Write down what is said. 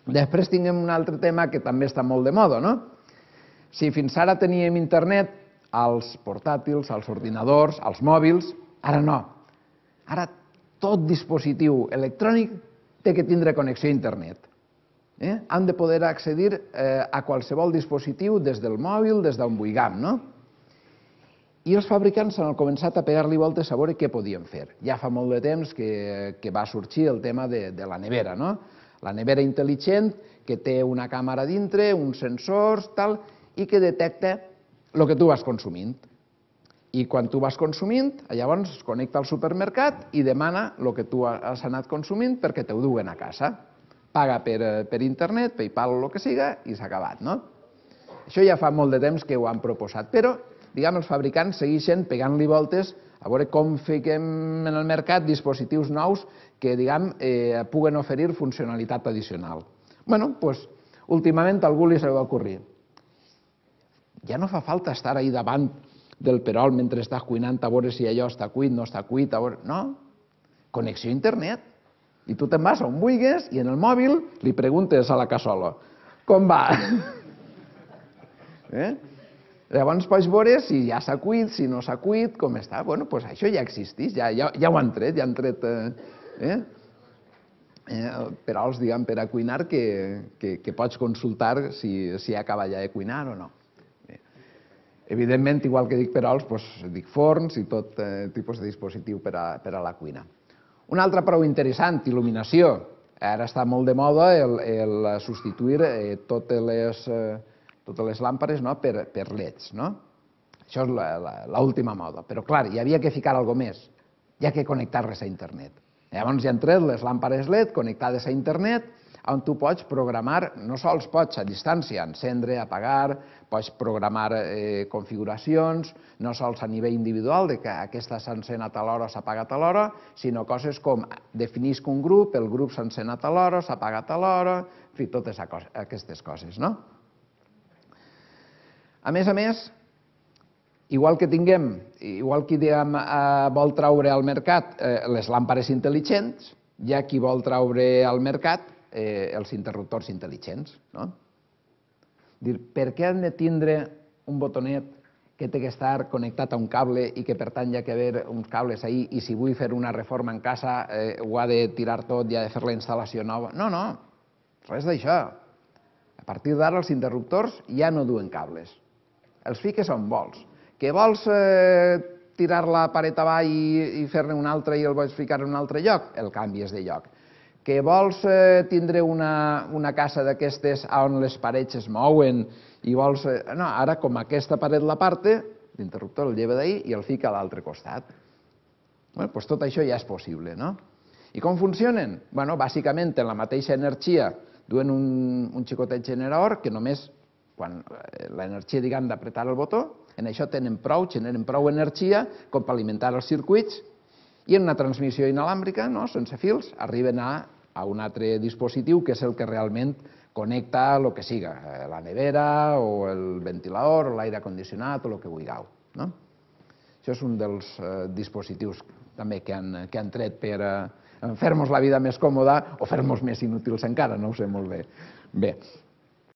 Després tinguem un altre tema que també està molt de moda, no? Si fins ara teníem internet als portàtils, als ordinadors, als mòbils, ara no. Ara tot dispositiu electrònic té que tindre connexió a internet. Han de poder accedir a qualsevol dispositiu des del mòbil, des d'on vulguem, no? I els fabricants han començat a pegar-li voltes a veure què podien fer. Ja fa molt de temps que va sorgir el tema de la nevera, no? La nevera intel·ligent que té una càmera dintre, uns sensors, tal, i que detecta el que tu vas consumint. I quan tu vas consumint, llavors es connecta al supermercat i demana el que tu has anat consumint perquè t'ho duguen a casa. Paga per internet, PayPal o el que siga, i s'ha acabat, no? Això ja fa molt de temps que ho han proposat, però els fabricants segueixen pegant-li voltes a veure com fiquem en el mercat dispositius nous que puguen oferir funcionalitat addicional. Bé, doncs, últimament a algú li s'ha ocorrit. Ja no fa falta estar ahí davant del perol mentre estàs cuinant a veure si allò està cuit, no està cuit, no. Connexió a internet. I tu te'n vas on vulguis i en el mòbil li preguntes a la cassola com va. Llavors pots veure si ja s'ha cuit, si no s'ha cuit, com està. Bé, doncs això ja existeix, ja ho han tret, ja han tret perols per a cuinar que pots consultar si acaba ja de cuinar o no. Evidentment, igual que dic perols, dic forns i tot tipus de dispositiu per a la cuina. Un altre prou interessant, il·luminació. Ara està molt de moda el substituir totes les làmpades per LEDs. Això és l'última moda. Però, clar, hi havia que ficar alguna cosa més. Hi ha que connectar-les a internet. Llavors ja han tret les làmpades LED connectades a internet, on tu pots programar, no sols pots a distància encendre, apagar, pots programar configuracions, no sols a nivell individual, que aquesta s'encén a tal hora, s'apaga a tal hora, sinó coses com definisc un grup, el grup s'encén a tal hora, s'apaga a tal hora, en fi, totes aquestes coses, no? A més, igual que vol treure al mercat les làmpades intel·ligents, hi ha qui vol treure al mercat els interruptors intel·ligents. Per què han de tindre un botonet que té que estar connectat a un cable i que per tant hi ha que haver uns cables ahí i si vull fer una reforma en casa ho ha de tirar tot i ha de fer la instal·lació nova? No, res d'això. A partir d'ara els interruptors ja no duen cables. Els fiques on vols. Que vols tirar la paret avall i fer-ne un altre i el vols ficar en un altre lloc? El canvies de lloc. Que vols tindre una casa d'aquestes on les parets es mouen i vols... No, ara com aquesta paret l'aparte, l'interruptor el lleva d'ahí i el fica a l'altre costat. Doncs tot això ja és possible, no? I com funcionen? Bàsicament, en la mateixa energia duen un xicotet generador que només quan l'energia, d'apretar el botó, en això generen prou energia com per alimentar els circuits i en una transmissió inalàmbrica, sense fils, arriben a un altre dispositiu que és el que realment connecta el que siga, la nevera o el ventilador o l'aire condicionat o el que vulgueu. Això és un dels dispositius també que han tret per fer-nos la vida més còmoda o fer-nos més inútils encara, no ho sé molt bé. Bé,